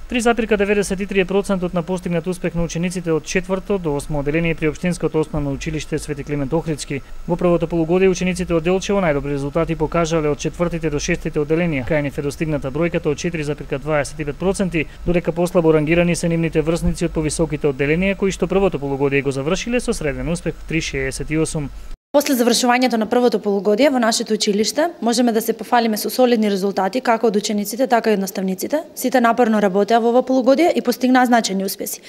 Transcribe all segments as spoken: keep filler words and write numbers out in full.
три запирка деветдесет и три проценти на постигнат успех на учениците од четврто до осмо одделение при општинското основно училиште Свети Климент Охридски. Во првото полугодие учениците од Делчево најдобри резултати покажале од четвртите до шестите одделенија. Кај нив е достигната бројката од четири запирка дваесет и пет проценти, додека послабо рангирани се нивните врсници од повисоките одделенија кои што првото полугодие го завршиле со среден успех три зарез шеесет и осум. После завршувањето на првото полугодие во нашето училиште можеме да се пофалиме со солидни резултати како од учениците, така и од наставниците. Сите напорно работеа во ова полугодие и постигнаа значајни успеси.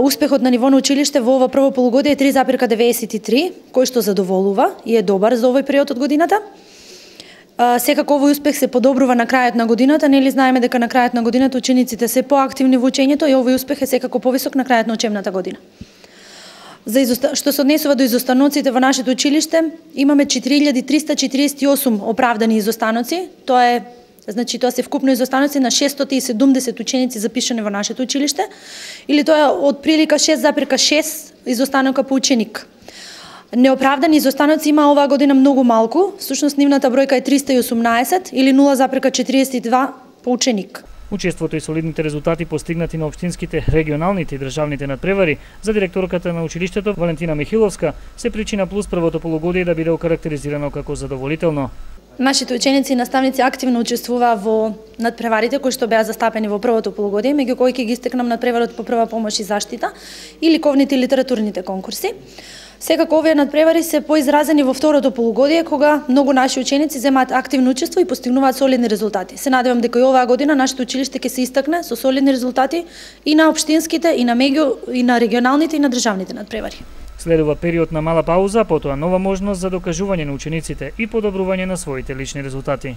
Успехот на ниво на училиште во ова прво полугодие е три запирка деветдесет и три, кој што задоволува и е добар за овој период од годината. Секако овој успех се подобрува на крајот на годината, нели знаеме дека на крајот на годината учениците се поактивни во учењето и овој успех е секако повисок на крајот на учебната година. За изоста... Што се однесува до изостаноците во нашето училиште, имаме четири илјади триста четириесет и осум оправдани изостаноци. Тоа е, значи тоа се вкупно изостаноци на шестстотини и седумдесет ученици запишани во нашето училиште, или тоа е од прилика шест запирка шест изостанока по ученик. Неоправдани изостаноци има оваа година многу малку, всушност нивната бројка е триста и осумнаесет или нула запирка четириесет и два по ученик. Учеството и солидните резултати постигнати на општинските, регионалните и државните надпревари за директорката на училиштето Валентина Михиловска се причина плюс првото полугодие да биде окарактеризирано како задоволително. Нашите ученици и наставници активно учествуваа во надпреварите кои што беа застапени во првото полугодие, меѓу кои ќе ги истекнам надпреварот по прва помош и заштита и ликовните и литературните конкурси. Секако овие надпревари се поизразени во второто полугодие, кога многу наши ученици земаат активно учество и постигнуваат солидни резултати. Се надевам дека и оваа година нашето училиште ќе се истакне со солидни резултати и на општинските, и на меѓу, и на регионалните, и на државните надпревари. Следува период на мала пауза, потоа нова можност за докажување на учениците и подобрување на своите лични резултати.